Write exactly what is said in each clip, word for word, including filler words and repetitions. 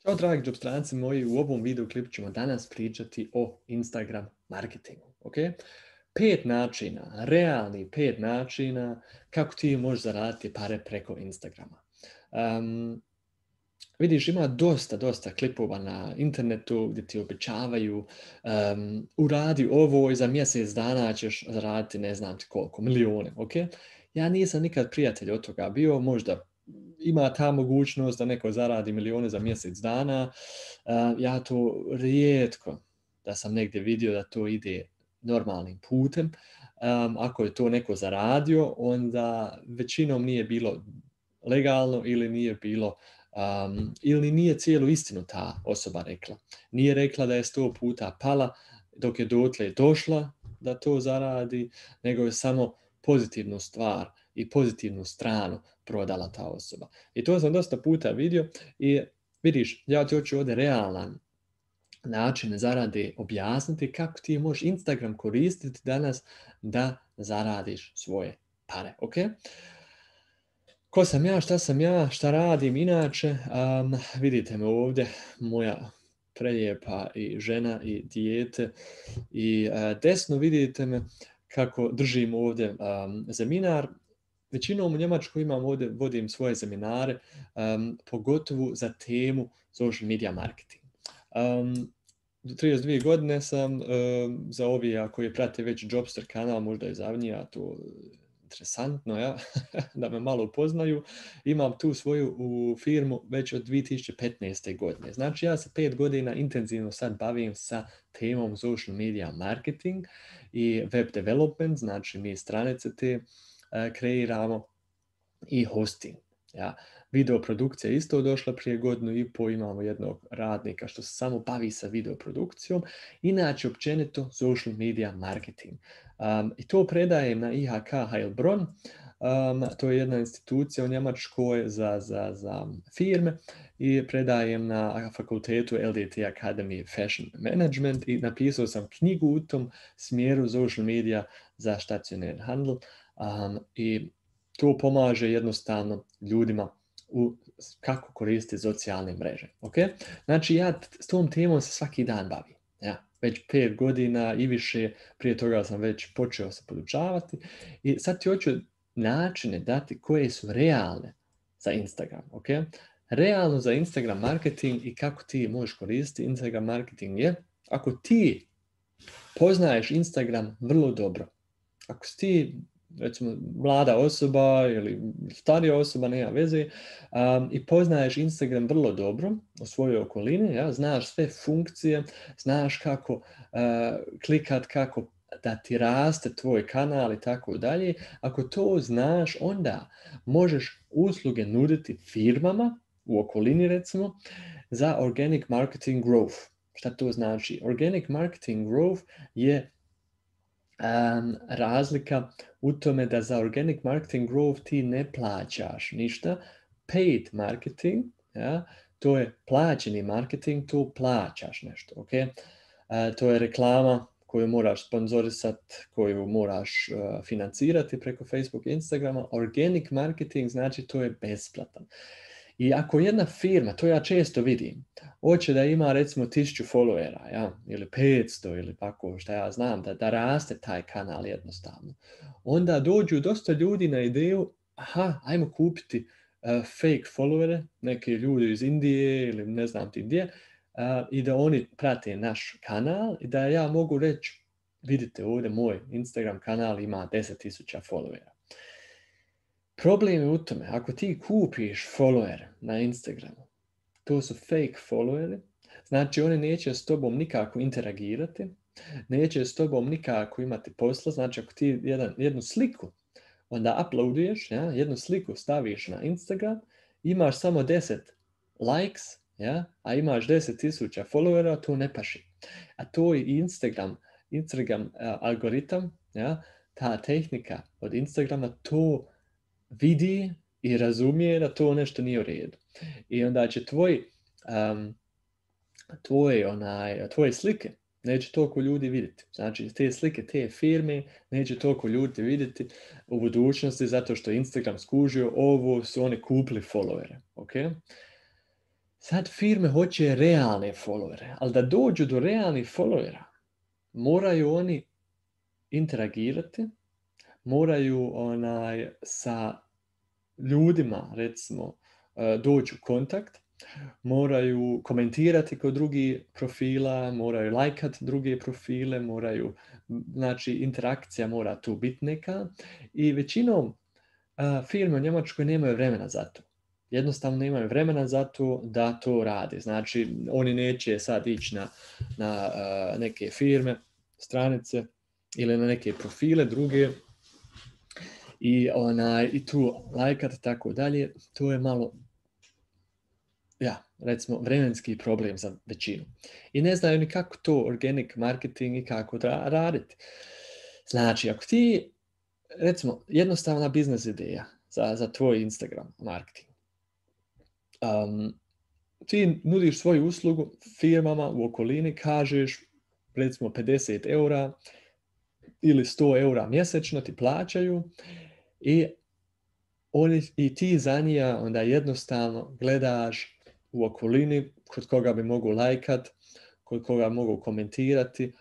Ćao dragi džopstranci moji, u ovom video klipu ćemo danas pričati o Instagram marketingu, ok? Pet načina, realni pet načina kako ti možeš zaraditi pare preko Instagrama. Um, vidiš, ima dosta, dosta klipova na internetu gdje ti obećavaju um, uradi ovo i za mjesec dana ćeš zaraditi ne znam ti koliko, milijune, ok? Ja nisam nikad prijatelj od toga bio, možda ima ta mogućnost da neko zaradi milijune za mjesec dana. Uh, ja to rijetko da sam negdje vidio da to ide normalnim putem. Um, ako je to neko zaradio, onda većinom nije bilo legalno ili nije bilo um, ili nije cijelu istinu ta osoba rekla. Nije rekla da je sto puta pala dok je dotle došla da to zaradi, nego je samo pozitivnu stvar i pozitivnu stranu prodala ta osoba. I to sam dosta puta vidio i vidiš, ja ti hoću ovdje realan način zarade objasniti kako ti možeš Instagram koristiti danas da zaradiš svoje pare, ok? Ko sam ja, šta sam ja, šta radim inače, um, vidite me ovdje, moja prelijepa i žena i dijete i uh, desno vidite me kako držim ovdje um, seminar. Većinom u Njemačkoj imam ovdje, vodim svoje seminare, um, pogotovo za temu social media marketing. Um, trideset dvije godine sam, um, za ovi koji prate već Jobster kanal, možda je zavnija to interesantno, ja? Da me malo upoznaju, imam tu svoju u firmu već od dvije tisuće petnaeste. godine. Znači ja se pet godina intenzivno sad bavim sa temom social media marketing i web development, znači mi stranice te uh, kreiramo i hosting. Ja. Video produkcija isto došla prije godinu i pol, imamo jednog radnika što se samo bavi sa videoprodukcijom, inače općenito social media marketing. Um, I to predajem na I H K Heilbronn, um, to je jedna institucija u Njemačkoj za, za, za firme i predajem na fakultetu L D T Academy Fashion Management i napisao sam knjigu u tom smjeru social media za stacionarni handel um, i to pomaže jednostavno ljudima u kako koristiti socijalne mreže. Okay? Znači ja s tom temom se svaki dan bavim. Ja, već pet godina i više, prije toga sam već počeo se podučavati i sad ti hoću načine dati koje su realne za Instagram. Okay? Realno za Instagram marketing i kako ti možeš koristiti Instagram marketing je ako ti poznaješ Instagram vrlo dobro. Ako si ti recimo mlada osoba ili starija osoba, nema veze, um, i poznaješ Instagram vrlo dobro u svojoj okolini, ja, znaš sve funkcije, znaš kako uh, klikat, kako da ti raste tvoj kanal i tako dalje. Ako to znaš, onda možeš usluge nuditi firmama u okolini recimo za organic marketing growth. Šta to znači? Organic marketing growth je Um, razlika u tome da za organic marketing growth ti ne plaćaš ništa. Paid marketing, ja, to je plaćeni marketing, tu plaćaš nešto, ok? Uh, to je reklama koju moraš sponzorisati, koju moraš uh, financirati preko Facebook i Instagrama. Organic marketing znači to je besplatan. I ako jedna firma, to ja često vidim, hoće da ima recimo tisuću followera, ja, ili petsto ili tako što ja znam, da, da raste taj kanal jednostavno, onda dođu dosta ljudi na ideju, aha, ajmo kupiti uh, fake followere, neke ljudi iz Indije ili ne znam ti gdje, uh, i da oni prate naš kanal i da ja mogu reći, vidite ovdje moj Instagram kanal ima deset tisuća followera. Problem je u tome, ako ti kupiš follower na Instagramu, to su fake followeri, znači oni neće s tobom nikako interagirati, neće s tobom nikako imati posla, znači ako ti jedan, jednu sliku onda uploaduješ, ja, jednu sliku staviš na Instagram, imaš samo deset likes, ja, a imaš deset tisuća followera, to ne paši. A to je Instagram, Instagram uh, algoritam, ja, ta tehnika od Instagrama, to vidi i razumije da to nešto nije u redu. I onda će tvoj, um, tvoje, onaj, tvoje slike neće toliko ljudi vidjeti. Znači, te slike, te firme neće toliko ljudi vidjeti u budućnosti zato što Instagram skužio ovo su oni kupili followere. Okay? Sad firme hoće realne followere, ali da dođu do realnih followera, moraju oni interagirati, moraju onaj, sa ljudima, recimo, doći u kontakt, moraju komentirati kod drugih profila, moraju lajkati druge profile, moraju, znači interakcija mora tu biti neka i većinom a, firme u Njemačkoj nemaju vremena za to. Jednostavno nemaju vremena za to da to radi. Znači, oni neće sad ići na, na uh, neke firme, stranice ili na neke profile druge i, onaj, i tu lajkat i tako dalje. To je malo, ja, recimo, vremenski problem za većinu. I ne znaju ni kako to organic marketing i kako da raditi. Znači, ako ti, recimo, jednostavna biznes ideja za, za tvoj Instagram marketing. Um, ti nudiš svoju uslugu firmama u okolini, kažeš recimo pedeset eura ili sto eura mjesečno ti plaćaju i, oni, i ti za njega onda jednostavno gledaš u okolini kod koga bi mogu lajkat, kod koga mogu komentirati,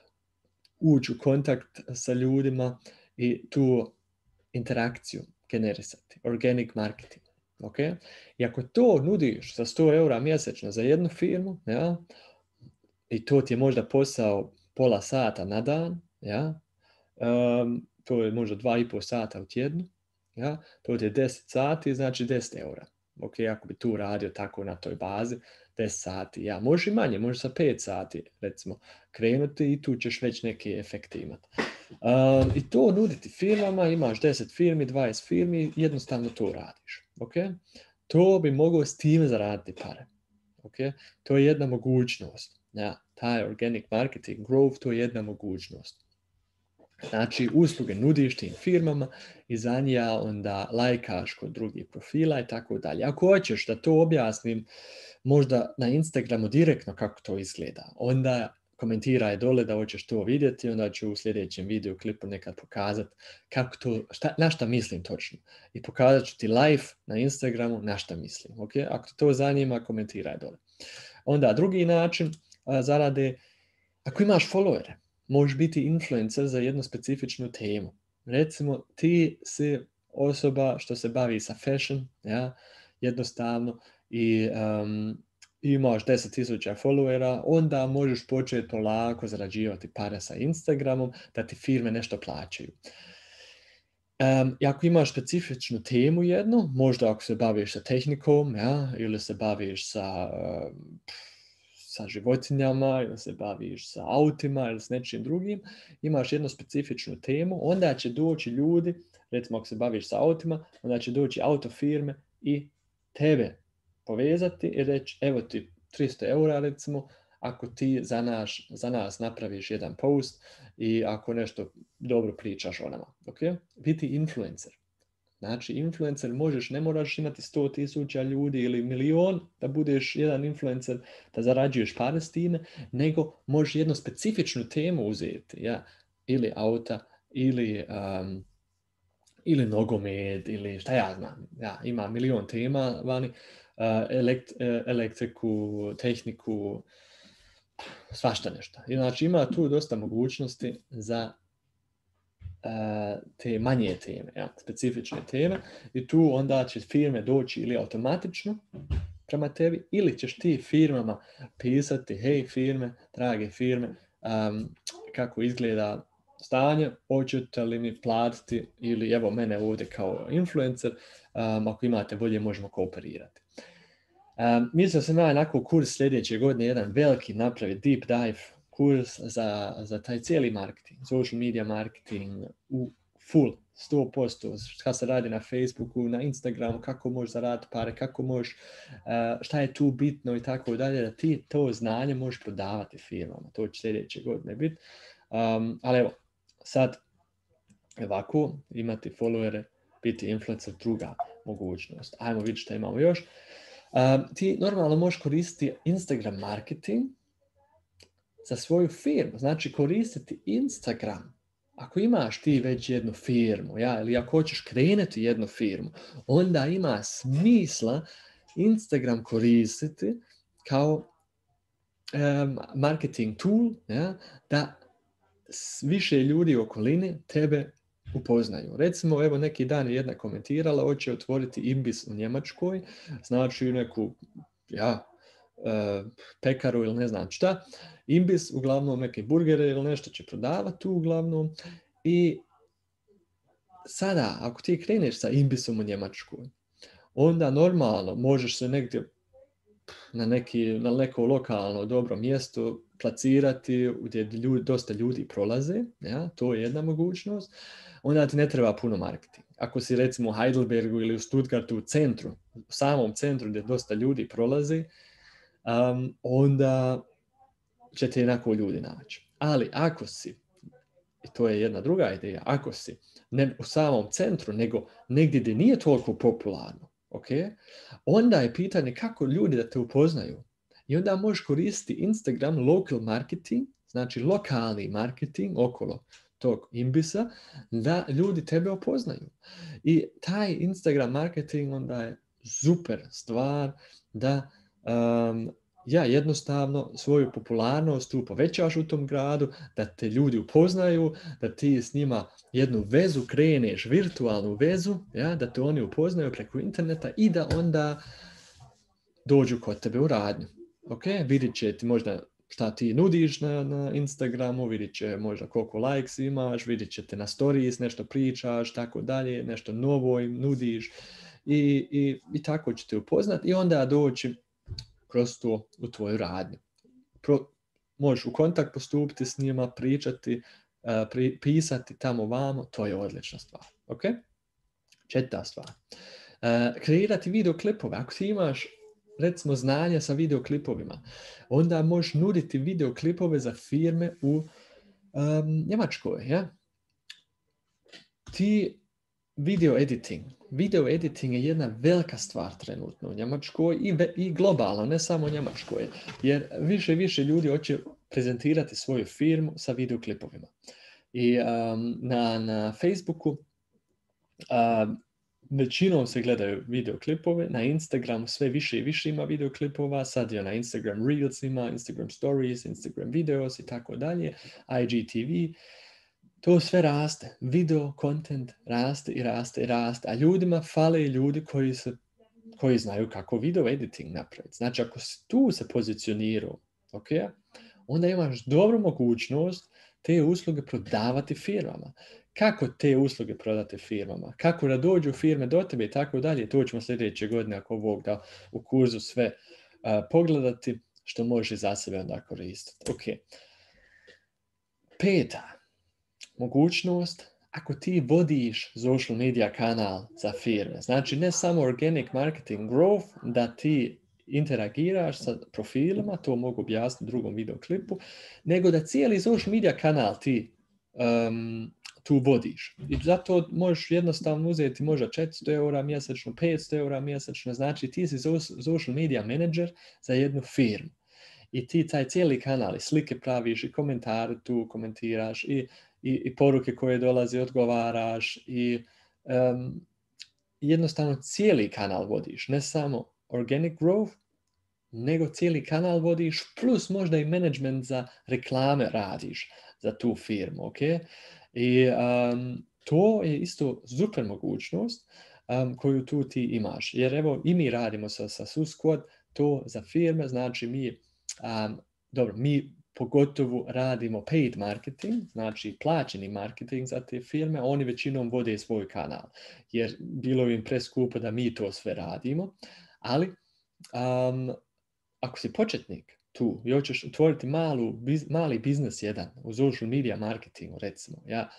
ući u kontakt sa ljudima i tu interakciju generisati. Organic marketing. Okay? I ako to nudiš za sto eura mjesečno za jednu firmu, ja, i to ti je možda posao pola sata na dan, ja, um, to je možda dva i pol sata u tjednu, ja, to ti je deset sati, znači deset eura. Okay? Ako bi tu radio tako na toj bazi, deset sati, ja, možeš i manje, možeš sa pet sati, recimo, krenuti i tu ćeš već neke efekte imati. Um, I to nuditi firmama, imaš deset firmi, dvadeset firmi, jednostavno to radiš. Okay? To bi mogao s tim zaraditi pare. Okay? To je jedna mogućnost. Ja, taj organic marketing growth, to je jedna mogućnost. Znači, usluge nudiš tim firmama i za njega onda lajkaš kod drugih profila i tako dalje. Ako hoćeš da to objasnim možda na Instagramu direktno kako to izgleda, onda komentiraj dole da hoćeš to vidjeti, onda ću u sljedećem video klipu nekad pokazati kako to, šta, na šta mislim točno. I pokazat ću ti live na Instagramu na šta mislim. Okay? Ako to zanima, komentiraj dole. Onda drugi način a, zarade, ako imaš followere, možeš biti influencer za jednu specifičnu temu. Recimo, ti si osoba što se bavi sa fashion, ja, jednostavno, i um, imaš deset tisuća followera, onda možeš početi polako zarađivati pare sa Instagramom, da ti firme nešto plaćaju. Um, I ako imaš specifičnu temu jednu, možda ako se baviš sa tehnikom, ja, ili se baviš sa, uh, sa životinjama, ili se baviš sa autima, ili s nečim drugim, imaš jednu specifičnu temu, onda će doći ljudi, recimo ako se baviš sa autima, onda će doći autofirme i tebe povezati i reći, evo ti tristo eura recimo, ako ti za, naš, za nas napraviš jedan post i ako nešto dobro pričaš o nama. Okay? Biti influencer. Znači, influencer možeš, ne moraš imati sto tisuća ljudi ili milion da budeš jedan influencer, da zarađuješ pare s time, nego možeš jednu specifičnu temu uzeti, ja? Ili auta, ili, um, ili nogomet, ili šta ja znam. Ja, ima milion tema vani, uh, elekt, uh, elektriku, tehniku, svašta nešto. I znači ima tu dosta mogućnosti za uh, te manje teme, ja, specifične teme i tu onda će firme doći ili automatično prema tebi ili ćeš ti firmama pisati, hej firme, drage firme, um, kako izgleda stanje, hoćete li mi platiti ili evo mene ovdje kao influencer, um, ako imate volje možemo kooperirati. Um, mislio sam ja nakon kurs sljedeće godine jedan veliki napravi deep dive kurs za, za taj cijeli marketing, social media marketing u full, sto posto, šta se radi na Facebooku, na Instagramu, kako možeš zaraditi pare, kako možeš, uh, šta je tu bitno i tako dalje, da ti to znanje možeš prodavati firmama, to će sljedeće godine biti. Um, ali evo, sad ovako imati followere, biti influencer, druga mogućnost. Ajmo vidjeti šta imamo još. Um, ti normalno možeš koristiti Instagram marketing za svoju firmu, znači koristiti Instagram. Ako imaš ti već jednu firmu, ja, ili ako hoćeš krenuti jednu firmu, onda ima smisla Instagram koristiti kao um, marketing tool, ja, da više ljudi u okolini tebe upoznaju. Recimo, evo neki dan je jedna komentirala, hoće otvoriti imbis u Njemačkoj, znači neku, ja, uh, pekaru ili ne znam šta, imbis, uglavnom neke burgere ili nešto će prodavati tu uglavnom i sada, ako ti kreneš sa imbisom u Njemačkoj, onda normalno možeš se negdje na, neki, na neko lokalno dobro mjesto placirati gdje ljudi, dosta ljudi prolaze, ja, to je jedna mogućnost, onda ti ne treba puno marketing. Ako si recimo u Heidelbergu ili u Stuttgartu u centru, u samom centru gdje dosta ljudi prolaze, um, onda će te jednako ljudi naći. Ali ako si, i to je jedna druga ideja, ako si ne u samom centru, nego negdje gdje nije toliko popularno, okay? Onda je pitanje kako ljudi da te upoznaju. I onda možeš koristiti Instagram local marketing, znači lokalni marketing okolo tog imbisa, da ljudi tebe upoznaju. I taj Instagram marketing onda je super stvar da um, ja jednostavno svoju popularnost tu povećaš u tom gradu, da te ljudi upoznaju, da ti s njima jednu vezu kreneš, virtualnu vezu, ja, da te oni upoznaju preko interneta i da onda dođu kod tebe u radnju. Okay? Vidit će ti možda šta ti nudiš na, na Instagramu, vidit će možda koliko likes imaš, vidit će te na stories, nešto pričaš, tako dalje, nešto novo im nudiš i, i, i tako će te upoznati i onda doći kroz to u tvoju radnju. Pro, možeš u kontakt postupiti s njima, pričati, uh, pri, pisati tamo vamo, to je odlična stvar. Okay? Četvrta stvar. Uh, kreirati videoklipove. Ako ti imaš recimo znanja sa videoklipovima, onda možeš nuditi videoklipove za firme u um, Njemačkoj. Ja? Ti video editing. Video editing je jedna velika stvar trenutno u Njemačkoj i, i globalno, ne samo u Njemačkoj. Jer više i više ljudi hoće prezentirati svoju firmu sa videoklipovima. I um, na, na Facebooku um, većinom se gledaju videoklipove, na Instagramu sve više i više ima videoklipova, sad je na Instagram Reels ima, Instagram Stories, Instagram Videos i tako dalje, I G T V. To sve raste, video content raste i raste i raste, a ljudima fale ljudi koji, se, koji znaju kako video editing napraviti. Znači, ako si tu se pozicionirao, okay, onda imaš dobru mogućnost te usluge prodavati firmama. Kako te usluge prodati firmama? Kako da dođu firme do tebe i tako dalje? To ćemo sljedeće godine, ako Bog da, u kurzu sve uh, pogledati, što može za sebe onda koristiti. Okay. Peta mogućnost, ako ti vodiš social media kanal za firme, znači ne samo organic marketing growth, da ti interagiraš sa profilima, to mogu objasniti u drugom videoklipu, nego da cijeli social media kanal ti um, tu vodiš. I zato možeš jednostavno uzeti možda četiristo eura mjesečno, petsto eura mjesečno, znači ti si social media manager za jednu firmu. I ti taj cijeli kanal i slike praviš i komentare tu komentiraš i I, i poruke koje dolaze odgovaraš i um, jednostavno cijeli kanal vodiš, ne samo organic growth, nego cijeli kanal vodiš, plus možda i management za reklame radiš za tu firmu, ok? I um, to je isto super mogućnost um, koju tu ti imaš, jer evo i mi radimo sa, sa SUSquad to za firme, znači mi, um, dobro, mi pogotovo radimo paid marketing, znači plaćeni marketing za te firme, oni većinom vode svoj kanal, jer bilo im preskupo da mi to sve radimo, ali um, ako si početnik tu i hoćeš otvoriti malu, biz, mali biznes jedan u social media marketingu recimo, ja,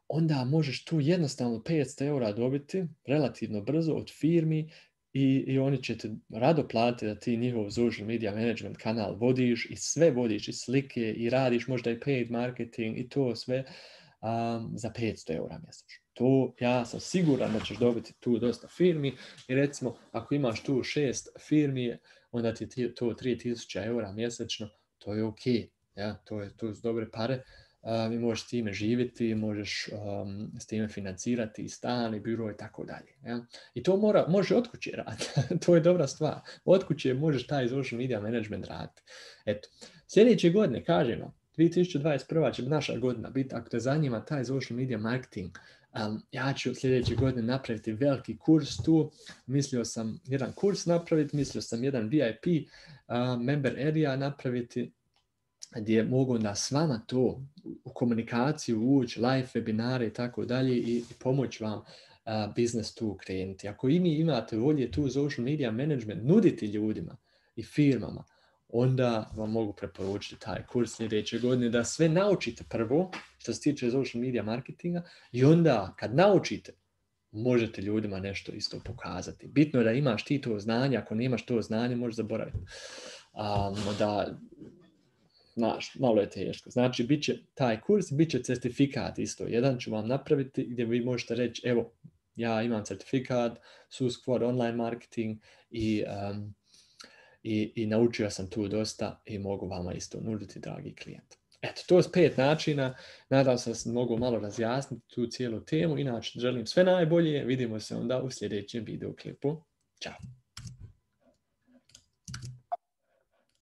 onda možeš tu jednostavno petsto eura dobiti relativno brzo od firmi I, i oni će te rado platiti da ti njihov social media management kanal vodiš i sve vodiš i slike i radiš možda i paid marketing i to sve um, za petsto eura mjesečno. To ja sam siguran da ćeš dobiti tu dosta firmi i recimo ako imaš tu šest firmi, onda ti to tri tisuće eura mjesečno, to je ok. Ja, to je to su dobre pare um, i možeš s time živjeti, možeš um, s time financirati i stan i biro i tako dalje. Ja? I to mora, može od kuće raditi. To je dobra stvar. Od kuće možeš taj social media management raditi. Eto, sljedeće godine, kažem vam, dvije tisuće dvadeset prva će naša godina biti, ako te zanima taj social media marketing, um, ja ću sljedeće godine napraviti veliki kurs tu. Mislio sam jedan kurs napraviti, mislio sam jedan V I P uh, member area napraviti, gdje mogu da s vama to u komunikaciju ući, live webinare i tako dalje i pomoći vam uh, biznes tu krenuti. Ako i mi imate volje tu social media management nuditi ljudima i firmama, onda vam mogu preporučiti taj kurs sljedeće godine da sve naučite prvo što se tiče social media marketinga i onda kad naučite možete ljudima nešto isto pokazati. Bitno je da imaš ti to znanje, ako nemaš to znanje možeš zaboraviti. Um, da Znaš, malo je teško. Znači, bit će taj kurs, bit će certifikat isto. Jedan ću vam napraviti gdje vi možete reći, evo, ja imam certifikat, SuSquad online marketing i, um, i, i naučio sam tu dosta i mogu vama isto nuditi, dragi klijent. Eto, to je pet načina. Nadam se da sam mogu malo razjasniti tu cijelu temu. Inače, želim sve najbolje. Vidimo se onda u sljedećem videoklipu. Ćao!